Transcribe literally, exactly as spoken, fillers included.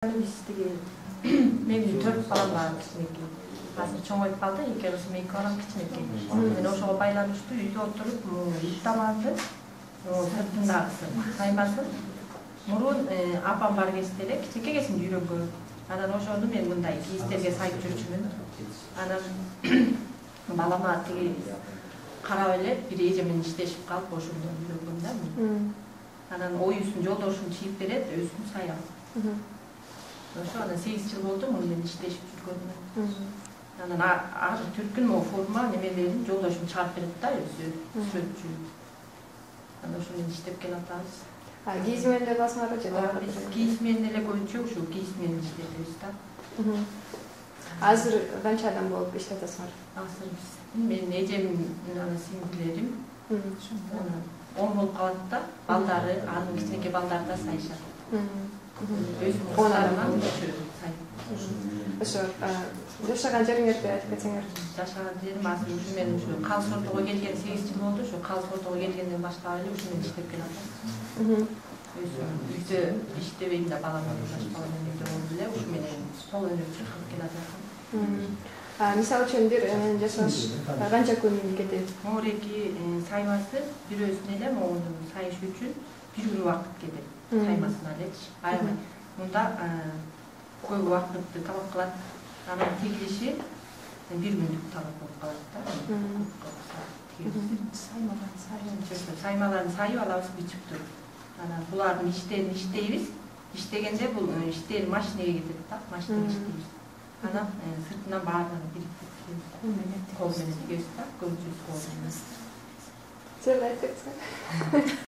Биз тиги менин төрт балам бар кичинекей. Азыр чоңоюп калды, эки кызым, эки балам кичинекей. Мен ошого байланыштуу үйдө отуруп, ит тамагымды, сыртындагысы, каймасын. Мурун апам бар кезде эле кичинекей кезимде үйрөнгөн. Анан ошону мен мындай кийизтерге сайып жүрчүмүн. Анан балама тиги карап эле бир эже менен иштешип калып, ошондон үйрөнгөм да. Анан оюсун жолдошум чийип берет, өзүм саям. Ошо анан сегиз жыл болду муну менен иштешип жүргөнүмө. Анан азыр түркүн могу форма немелерин жолдошум чыгарып берет да, өзү сүрөтчү. Анан ошо менен иштеп келатабыз. А кийиз менен деле аласыңарбы же дагы? Биз кийиз менен эле көбүнчө ушу кийиз менен иштейбиз да. Азыр канча адам болуп иштеп атасыңар? Азыр биз менин эжем, анан сиңдилерим, анан он болуп калат да, балдары, анын кичинекей балдары да сайышат. он адам. Ошо жашаган жериңерди айтып кетсеңер. Жашаган жерим азыр ушу мен ушу Калыс Ордого келген сегиз жыл болду. Ушу Калыс Ордого келгенден баштап эле ушу менен иштеп келатам. Үйдө иштебейм да, балам жаш бала менен үйдө болуп эле ушу менен кол өнөр чыркап келатам. Мисалы үчүн бир жасаш канча күн кетет? Моореки саймасы бирөөсүнө эле могуну сайыш үчүн бир күн убакыт кетет. Саймасына элечи. Аябай мында көп убакытты талап кылат. Анан тигилиши бир күндүк талап болуп калат да. Саймаларын сайып, саймаларын сайып алабыз, бичип туруп. Анан булардын иштерин иштейбиз. Иштегенде бул иштер машинеге кетет да, машинеге иштейбиз. Анан сыртынан баарын бириктирип кол менен тигебиз да, көбүнчөсү кол менен. Сен айтып кетсең.